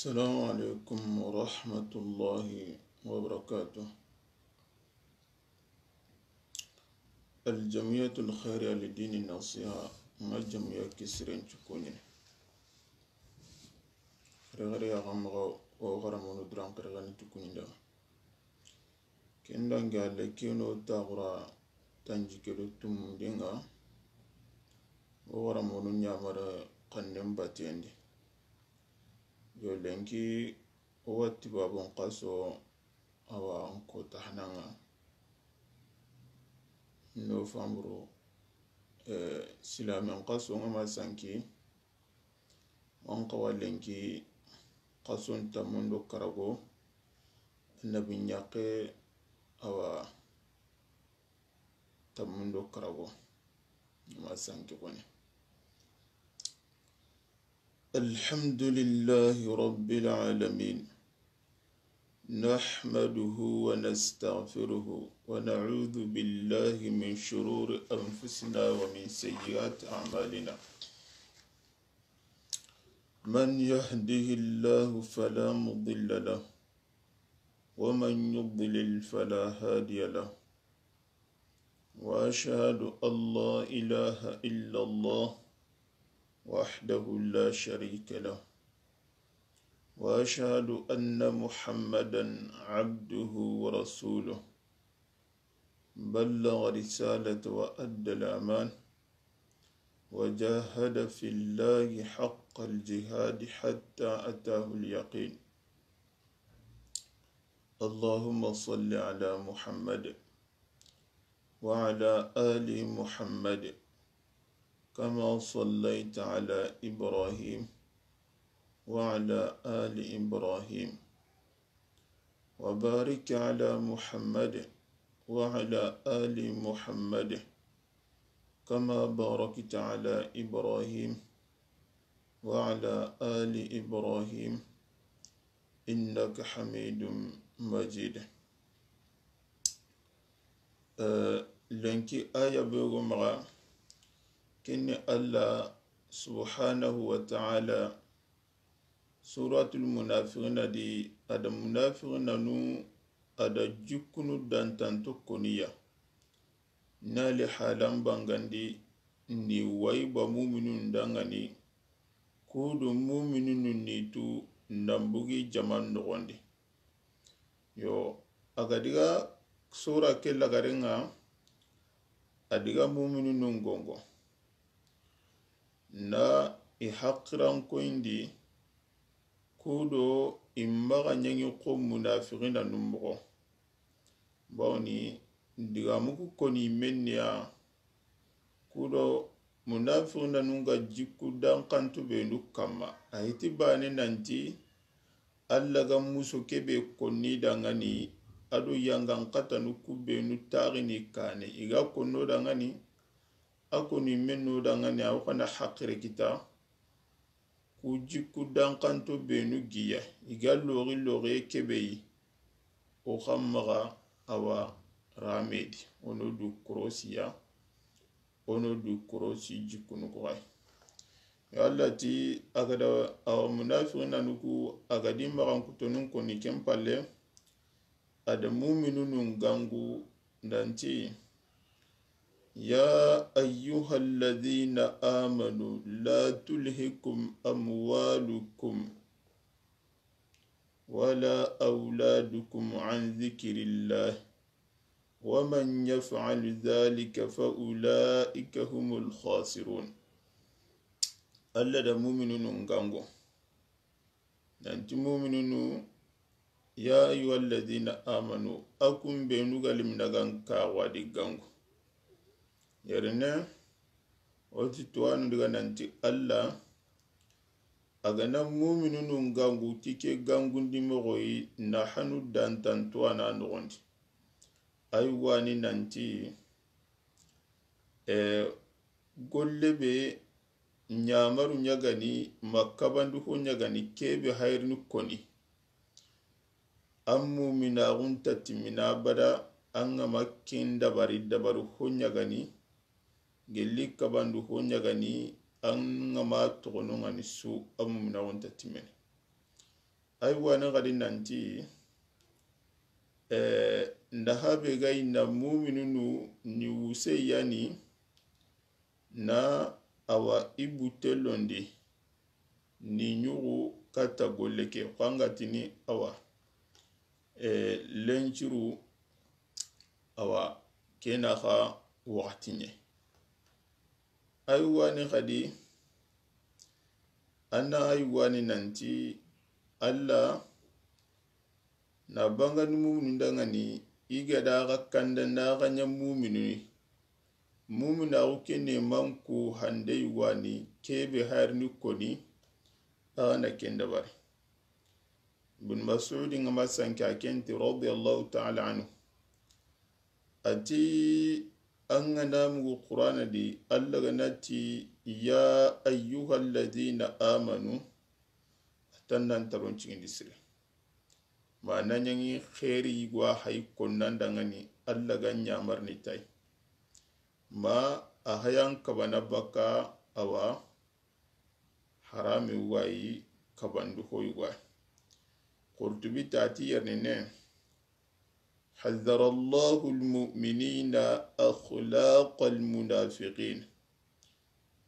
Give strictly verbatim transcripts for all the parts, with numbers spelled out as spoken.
السلام عليكم ورحمة الله وبركاته. الجمعية الخيرية للدين النصيحة, n ga jamiya kisiren cukuɲini. Xerexere ya xa maxa, o xaramonu duran xerexeni cukuɲinda. Ken dangi a le keno taxura tanji ke do tumundi ŋa, o xaramonu ɲamare xannen batendi. Yo lenki o watti babun xaso, awa n ko tahananga novembre, eh, silamen xaso ŋa ma sanki, wan xawa lenki xason tamundo karago, nabi ɲaxe, awa tamundo karago, ma sanki kone. الحمد لله رب العالمين. نحمده ونستغفره ونعوذ بالله من شرور أنفسنا ومن سيئات أعمالنا. من يهده الله فلا مضل له ومن يضلل فلا هادي له. وأشهد أن لا إله إلا الله وحده لا شريك له. وأشهد أن محمدا عبده ورسوله. بلغ رسالة وأدى الأمان وجاهد في الله حق الجهاد حتى أتاه اليقين. اللهم صل على محمد وعلى آل محمد كما صليت على إبراهيم وعلى آل إبراهيم وبارك على محمد وعلى آل محمد كما باركت على إبراهيم وعلى آل إبراهيم إنك حميد مجيد. Eh, lenki aya be go maxa, ken ni Allah subhanahu wa ta'ala Suratul Munafiqina di, a da munafiqinanu, a da jikkunu dantanto koniya. Na li halan bangandi, ni wayi ba muminun dangani, kudu muminunu ni tu nan bugi jaman noxondi. Yo, a ga diga sura ke lagarenga, a diga muminunun gongo. Na i haqirankoyindi, kudo i maxa ɲangi xo munafiqinanu moxo. Bawni digamu ku koni menniya, kudo munafiqinanu ga jikku dankantu benu kamma. A hiti bane nanti, Allah ga muso kebe konni dangani, ado yangan katanu ku benu taxini kane. I ga konno dangani, a koni menno dangani, a wo xana haqire kita. Ku jikku dankanto benu giya, i ga loxi loxiye kebe yi, o xa maxa awa ramedi, o no du korosiya, o no du korosi jikkunu ku xay. Yo Allah ti, a ga da awa munafiqinanu ku, a ga di maxankutonun koni ken palle, a da muminunun gangu nanti, يا أيها الذين آمنوا لا تلهكم أموالكم ولا أولادكم عن ذكر الله ومن يفعل ذلك فأولئك هم الخاسرون. Allah da muminunun gangu. Nanti muminunu, يا أيها الذين آمنوا, a kun benu ga limina gan ka wadi gangu. Yerine, o ti tuwanu diga nanti Allah, a ga na muminunu gangu, ti ke gangundi moxoyi, na hanu dantan tuwana noxondi. Ay wani nanti, e, golle be ɲamaru ɲagani, ma kabandu ho ɲagani, kebe hayrini koni. An muminaxun ta timmina bada, an ga ma ken dabari, dabaru ho ɲagani, gelli kabandu ho ɲagani, an ga ma toxonongani su, an muminaxun ta timmene. Ay wani xadi nanti, eh, nda habe ga yi na muminunu ni wuse yani, na awa i butte londi ni ɲuxu katta golle ke, xangatini awa, eh, lenciru awa kena xa waxati ɲe. Ay wani xadi, anna ay wani nanti Alla na bangani muminu ndangani, i ga da xa kanda na xa ɲa muminu ni. Muminu axu kene manku hande wani kebe harni koni, axa na ken dabari. Ibn Mas'ud nga ma sanke a kenti radiyallahu ta'ala anhu. Ati an ga na mugu Qur'ana di, Alla ga na ti, "Ya ayyuhalladhina amanu." Atan nan taron cigindi sire. Ma na ɲangi xeeri yigo a hay konnan dangani Alla ga ɲamarni tay. Ma a hayan kabana baka awa harami wayi kabandu hoy wayi. Qurtubi tati yernene, حذر الله المؤمنين أخلاق المنافقين.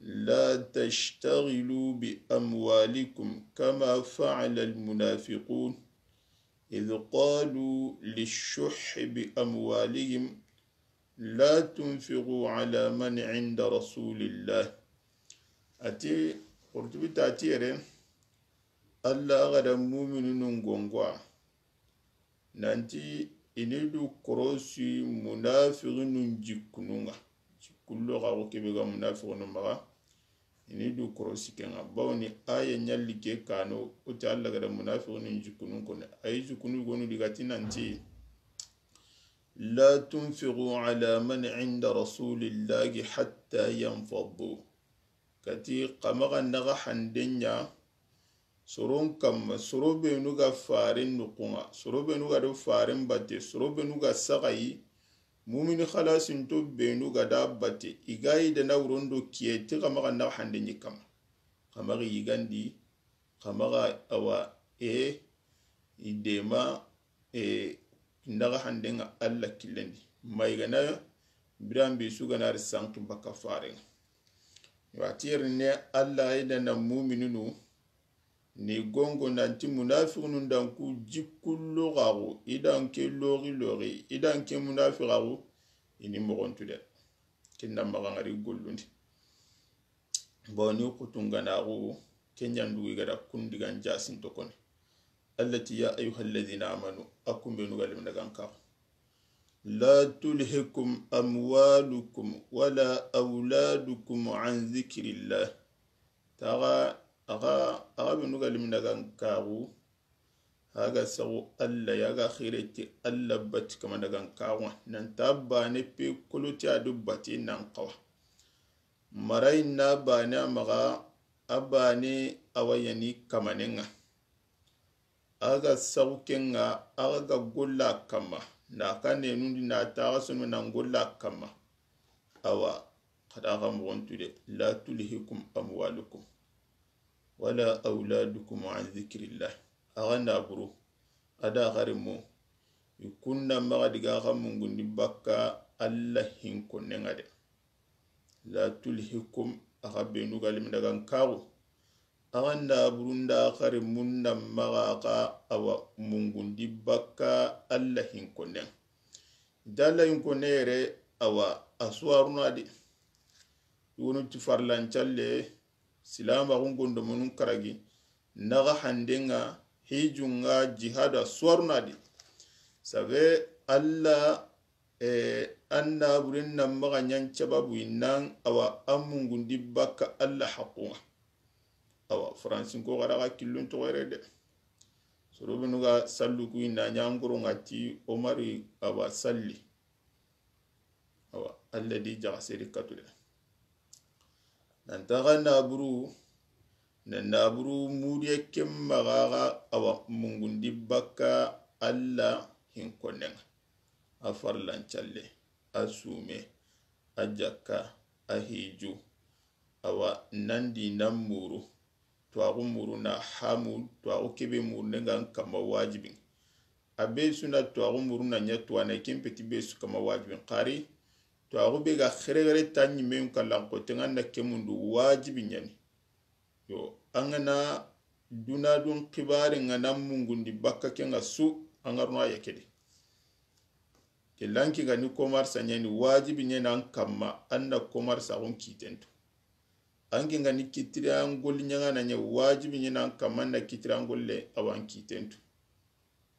لا تشتغلوا بأموالكم كما فعل المنافقون إذ قالوا للشح بأموالهم لا تنفقوا على من عند رسول الله. Ati, Qurtubi tati yere, Alla ga da muminunun gongoa nanti i ni du korosi munafiqinun jikkunun ŋa. Jikkullo xa ko kebe ga munafiqinu maxa, i ni du korosi ken ŋa. Bawni aya ɲalli ke kano, o ti Alla ga da munafiqinun jikkunun koni. Ay jikkunu gonu di ga ti nanti, "لا تنفقوا على من عند رسول الله حتى ينفضوا." Kati xa maxa naxa handen ɲa soron kamma, soro benu ga faren nuxun ŋa, soro benu ga do faren batte, soro benu ga saxayi, mumini xalasinto benu ga da batte, i ga yi dana wurondo kiye ti xa maxa naxa handen ɲi kamma. Xa maxa yigandi, xa maxa awa e i dema, e, naxa handen ŋa Alla killen di. Ma i ga na biran be su ga na ri sanki baka faren ŋa. Wa ti yere ne Alla ay dana muminunu ni gongo nanti munafiqinun dan ku jikkullo xaxu, i dan ke loxi loxi, i dan ke munafiqaxu, i ni moxontu de. Kinna maxa ngari gollundi. Bawni kutunganaxu, ke ɲandugu i ga da kundigan jasin tokoni. Alla ti, "Ya ayyuhalladhina amanu", a kumbenu ga limna gan kaxu. "لا تلهكم أموالكم ولا أولادكم عن ذكر الله." Taxa, axa, axa benu ga limna gan kaxu, a ga saxu Alla ya ga xireti Alla bati kamana gan kaxu, nan ta bane pe koloti a du bati nan xawa. Marayi na bane a maxa, a bane a wa yani kamanen ŋa. A ga saxu ken ŋa, a ga golla kamma. Na ka nenundi na taxa sono nan golla kamma. Awa, xa da xa moxontu de. "لا تلهكم أموالكم ولا أولادكم عن ذكر الله." Axa naburu, a da xarimu, i kunna maxa diga xa mungundi bakka Alla hinkonnen ŋa de. "لا تلهكم", axa benu ga limna gan kaxu. Axa naburu nda xarimun na maxa xa awa mungundi bakka Alla hinkonnen. Dalla hinkonne yere awa a suwaruna di. Wonu ti farlan calle, silamaxun gondomonun karagi, naxa handen ŋa, hijun ŋa, jihadu a suwaruna di. Sabe Alla, eh, an naburen na maxa ɲan cababu i nan awa a mungundi bakka Alla haqqun ŋa. Awa, faransinko xa da xa killun toxo yere de. Soro benu ga sallu ku i na ɲa ngoro ŋa ti Omari awa salli. Awa, Alla di jaxa seri katu de. Nan taxa naburu, na naburu mudiye ken maxa xa awa mungundi bakka Alla hinkonnen ŋa. A farlan calle, a sume, a jakka, a hiju, awa nan di nan muru, tuwaaxu muruna hamu, tuwaaxu kebe murunde nga n kamma wajibi. A be su na tuwaaxu muruna ɲa tuwaana, ken peti be su kamma wajibi. Xari, tuwaaxu be ga xerexere ta ɲimen kallan xote nga na ke mundu wajibi ɲa ni. Yo, an ga na duna dun xibaare nga na mungundi bakka ke nga su, an ga ro no a ya ke di. Ke lanki ga ni komarsa ɲa ni wajibi ɲa na an kamma, an na komarsaaxun kiten tu. An ke ga ni kitira an golli ɲaŋana ɲa wajibi ɲa na an kamma, an na kitira an golle awa an kiten tu.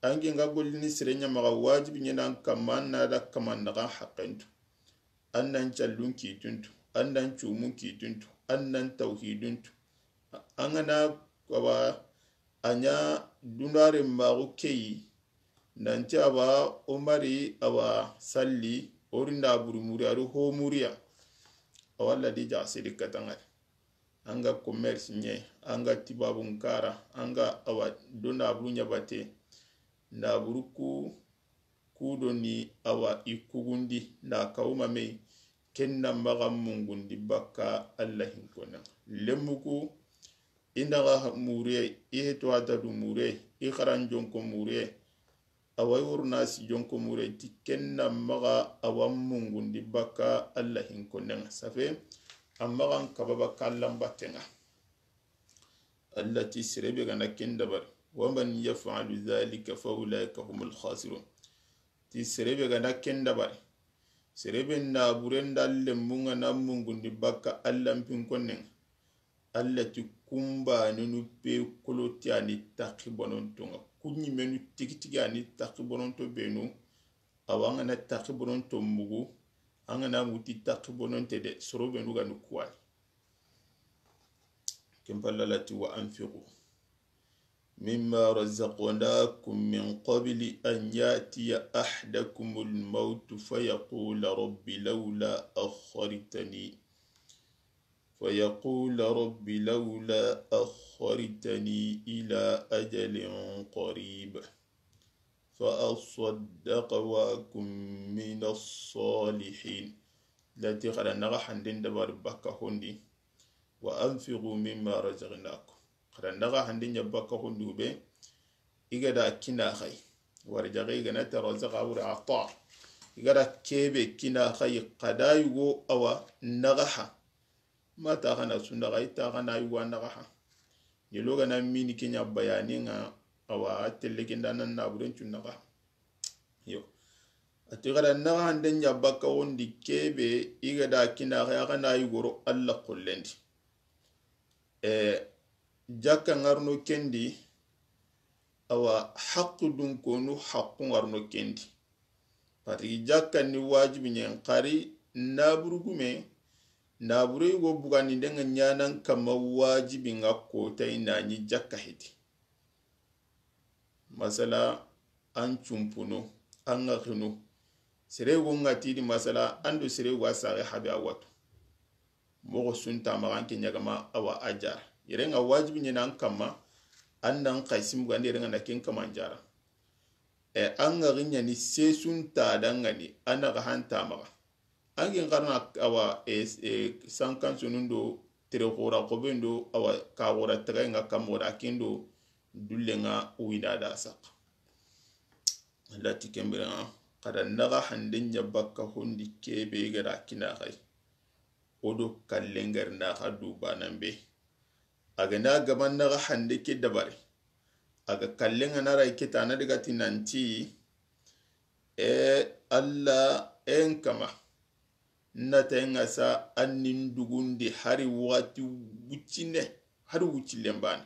An ke ga golli ni sere ɲa maxa wajibi ɲa na an kamma, an na da kaman naxa haqqen tu. An na an callun kitun tu, an na an cumun kitun tu, an na an tawhidun tu. An ga na awa a ɲa dunare maxu keyi, nanti awa o mari awa salli, o ri nda buru muri, a ri ho muriya. Awa Alla di ja sedi katangari. An ga commerce ɲe, an ga tibabun kara, an ga awa do nda buru ɲa bate, nda buru ku, ku do ni awa i kugundi nda kawuma me, ken na maxa mungundi bakka Alla hinkona. Lemmuku, i naxa mure, i heto a ta du mure, i xaran jonko mure, awa i wuruna si jonko mure, ti ken na maxa awa mungundi bakka Alla hinkonen ŋa. Safe, a maxa n kaba bakka Alla n batten ŋa. Alla ti sere be ga na ken dabari. Wa man yaf'alu dhalika fa ulaika humul khasirun. Ti sere be ga na ken dabari. Sere be na bure nda lemmun ŋa na mungundi bakka Alla n pinkonen ŋa. Alla ti kunbanenu pe koloti a ni taxi bononto ŋa. Kuɲimenu tigitigi a ni taxi bononto benu. Awa an ga na taxi bononto mugu, an ga na mugu ti taxi bononte de, soro benu ga ni kuwani. Ken palla Alla ti wa anfiqu mimma razaqnakum min qabli an ya'tiya ahadakumul mawtu fayaqula rabbi lawla akhartani فيقول رب لولا أخرتني إلى أجل قريب فأصدق وأكن من الصالحين. Lati xara naxa handen dabari bakka hondi. Wa anfiqu mimma razaqnakum. Xara naxa handen ɲa bakka hondi be. I ga da kina xay. Wari jaxe i ga na ta razaka wuri ata. I ga da kebe kina xay, xada yugo awa naxa ha. Ma ta xana su naxa, i ta xana yugo naxa ha. Yelo ga na mini kenya bayani nga awa a telle ke nda nan na buren cu naxa. Yo. A ti xara naxa handen ɲa bakka wondi kebe i ga da kina xay, a xana yugoro Alla xollendi. E, jakka ŋarno kendi, awa haqqu dun konu haqqu ŋarno kendi. Parce que jakka ni wajibi ɲen xari naburu gume, naburu yugo bugandi ndenga ɲanan kama wajibi nga kota i na ɲi jakka heti. Masala, an cumpunu, an ga xinu. Sere go nga tidi masala, an do sere go a saxe habe a watu. Moxo su nta maxa an ke ɲagama awa a jara. Yere nga wajibi ɲena an kamma, an nan xay simbugandi yere nga na ken kama an jara. E, an ga xiɲani se su nta dangani, an na xa han ta maxa. An ke nxarna awa, e, e, sankan sunun do, tere xora xoben do, awa ka xora tagay nga kammo da ken do, dulle nga wina da saq. Lati kembere nga, xada naxa hande ɲa bakka hondi kebe ga da kina xay. O do kallen gari na xa du banan be. A ga na gaban naxa hande ke dabari. A ga kallen ga na ray ke ta na daga ti nanti, e, Alla en kama. Nata en ga sa an nin dugundi hari waxati wuccine, hari wuccilen bane.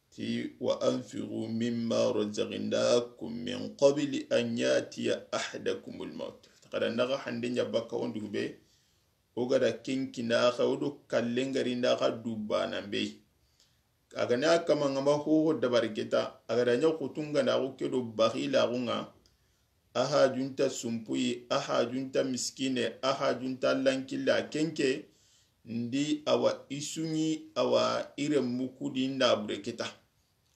Ti, "Wa anfiqu mimma razaqnakum min qabli an ya'tiya ahadakumul mawt." Xada naxa hande ɲa bakka wondi be, o ga da ken kina xa, o do kallen gari nda xa du banan be. A ga na kama nga ma hoho dabari keta, a ga da ɲa xutun ga na xo ke do baxilaxu nga, a hajunta sumpuyi, a hajunta miskine, a hajunta lankilla, kenke, ndi awa i suɲi, awa i renmu kudi nda bure keta.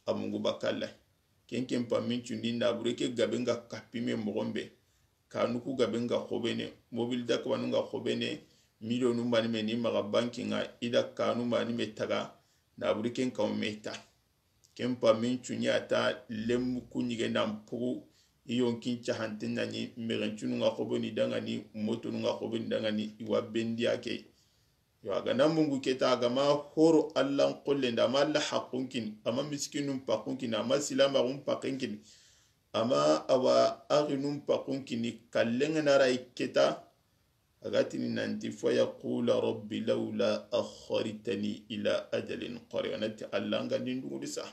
A mungu bakalla. Kenken pammin cundi nda bure ke gabe nga kappi me moxon be. Kanu ku gabe nga xobene, mobil da kabanu nga xobene, miliyonu mani me ni maxa banki nga, i da kanu mani me taga, Naburi ken kaw me ta. Ken pa min cunya ta lemmu kunyige nan pugu. I yonkin cahanten na ni, mexencunu nga xoboni dangani, motonu nga xoboni dangani, i wa bendiya ke. Yo, a ga na mungu keta, a ga ma horo Allan xollen da, a ma Alla haqqun kini, a ma miskinun paqqun kini, a ma silamaxun paqqen kini, a ma awa axinun paqqun kini, kallen ga na ra i keta, a ga tini nanti, "Fa yaqula rabbi lawla akhartani ila ajalin qarib." A na ti, "Alla, an ga ndi n dugudi sa,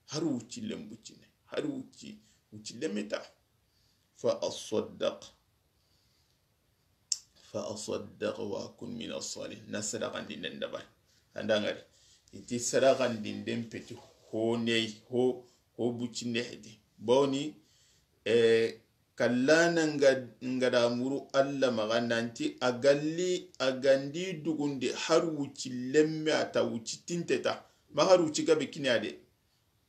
hari wucci lembuccine, hari wucci, wucci lemeta, fa asaddaq, fa asaddaq wa akun min as-salihin." Na sadaqandinden dabari. An da ngari, i ti sadaqandinden peti ho ney, ho, ho buccinde hedi. Bawni, eh, kallana nga, nga da muru Alla maxa nanti a ga li, a ga ndi dugundi har wucci lemme a ta, wucci tinte ta, ma har wucci gabe kini a de,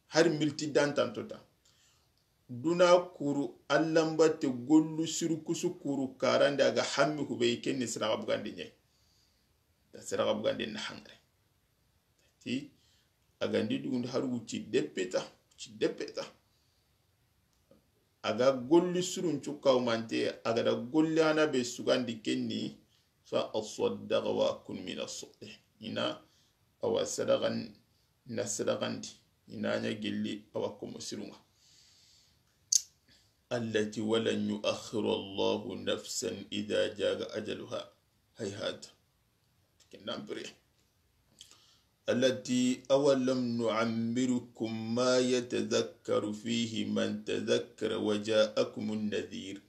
har milti dantanto ta. Duna kuru, Alla mbatte gollu siru kusu kuru karande, a ga hammi hube, i ken ni sadaqa bugande ɲa yi. Da sadaqa bugande na hangare. Ti, a ga ndi dugundi har wucci deppe ta, wucci deppe ta. A ga golli surun cu kawmante, a ga da golli hana be sugandi ken ni, fa asaddaqa wa akun min as-salihin. I na awa sadaqan, na sadaqandi, i na ɲa gelli awa komo sirunga. Allati walan yuakhira Allahu nafsan idha jaa ajaluha. Hayhata. Ken nan pire. Allati awalam nu'ammirkum ma yatadhakkaru fihi man tadhakkara wa ja'akumun nadhir.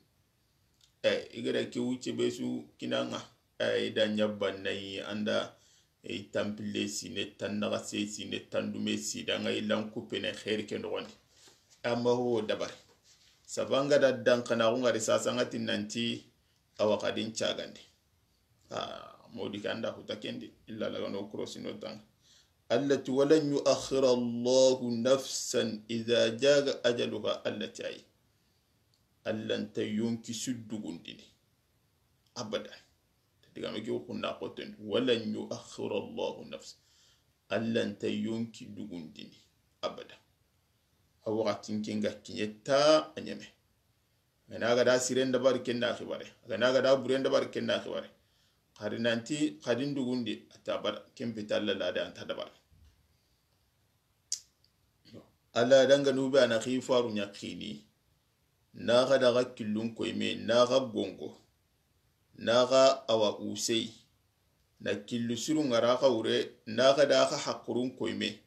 Eh, i ga da ke wucce be su kinanga. Eh, i da ɲa bannayi an da, eh, tanpille sine, tannaxase sine, tandume si, da nga i lan kuppene xeeri ke noxondi. Amma ho dabari. Sabanga da dankanaxu ngari sasangati nanti awa xadin cagandi. Ah, modi ke an da huta kendi, illa lagano korosino tanga. Allati walan yuakhira Allahu nafsan idha jaa ajaluha, Alla ti ayi. Alla nta yonki su dugundini. Abada. Digame ke xunna xoten. Walan yuakhira Allahu nafsan. Alla nta yonki dugundini. Abada. A waxatin ke nga kiɲe ta a ɲeme. A ga na ga da siren dabari ken na xibare. A ga na ga da buren dabari ken na xibare. Xari nanti xadin dugundi a ta bara. Ken pita Alla lada an ta dabara. Alla danganu be a na xi faru ɲa xini. Na xa da xa killun koyme, na xa gongo, na xa awa usey, na killu siru ngara xa wure, na xa da xa haqurun koyme.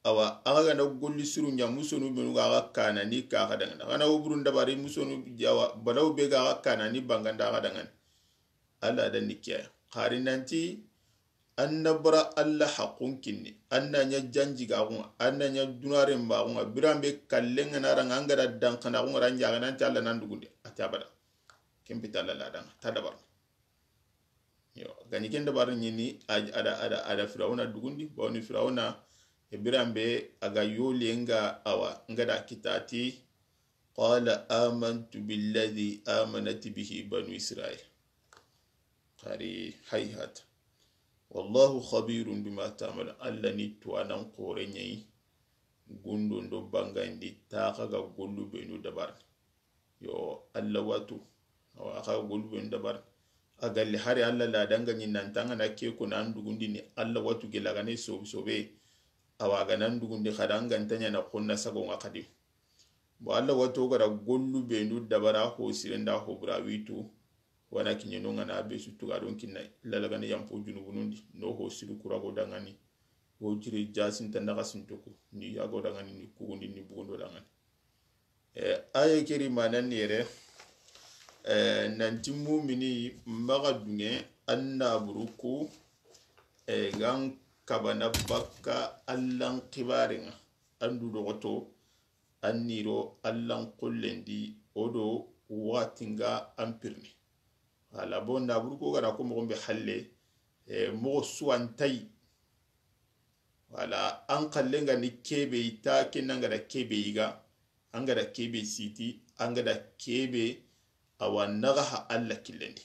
Awa, a xa ga na golli siru ɲa musonu benu ga xa kanani ka xa dangana. Xa na woburun dabari musonu jawa, balaw be ga xa kanani banganda xa dangana. Alla da ni kiya. Xari nanti, an na bara Alla haqqun kinni, an na ɲa janjigaxunga, an na ɲa dunaren baxunga, biranbe kallenga na ranga an ga da dankanaxunga ra ɲaxana nti Alla nan dugundi, a ta bada. Ken pita Alla ladanga, ta dabarna. Yo, gani ken dabarna ɲini, a da, a da, a da Firawuna dugundi, bawni Firawuna, e biranbe a ga yoli nga awa, nga da kitati, qala amantu billadhi amanat bihi banu Israil. Xari hayhat. Wallahu khabirun bima ta'malun. Alla ni tuwanan xore ɲayi. Gundo ndo bangandi taxa ga gollu benu dabar. Yo, Alla watu. Awa, xa ga gollu benu dabar. A galli hari Alla ladanga ɲi nantanga na ke ko nan dugundini Alla watu gelagane sobe sobe. Awa, ga nan dugundi xadanga ntanya na xonna sago nga xadi. Bo Alla wato gara gollu benu dabara ho sirenda ho bura witu. Wana kiɲeno nga na be su tuga don kinna lalagani yampo junubunundi no ho siru kurago dangani. Ho jiri jasin ta naga sintoku ni yago dangani ni kugundi ni bugundo dangani. Eh, aye keri manan yere, eh, nanti mumini maga dunge anna buruku, eh, gan kabana bakka Allan xibarenga andu dogoto, an niro Allan xollendi, o do waxatinga an pirni. Wala bo naburu ko gara ko moxo be halle, eh, moxo suwantay. Wala an xallenga ni kebe ita, kenanga da kebe iga, an ga da kebe siti, an ga da kebe awa naga ha Alla killendi.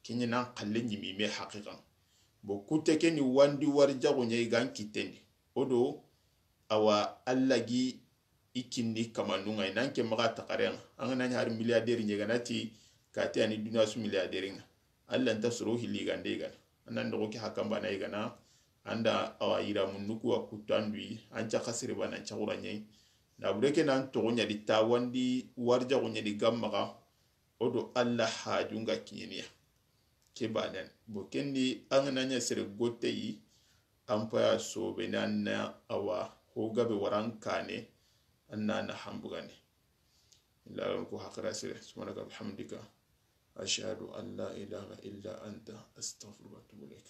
Kenya nan xalle ɲimi me haqiqan. Bo kute ke ni wandi wari jago ɲa igan kitendi. O do, awa, Alla gi i kinni kamanun ŋa, i nan ke maxa taxaren ŋa. An ga na ɲi hari milliardaire ɲegana ti, kati ani duniya su milliardaire ŋa. Alla nta soro hilli gande gana. An nan doxo ke hakanbana i gana. An da awa yiramun nuku wa kuttu an du yi. An ca xasiri bana an ca xura ɲayi. Na bure ke nan toxo ɲa di tawandi warjaxu ɲa di gammaxa. O do Alla hajun ga kiɲeniya. Ke banen. Bo kendi an ga na ɲa sere gotte yi, an paya sobe na na awa ho gabe waran kane, an na na hambugane. Illa ko hakara sere. Subhanaka bihamdika. Ashhadu an la ilaha illa anta, astaghfiruka wa atubu ilaik.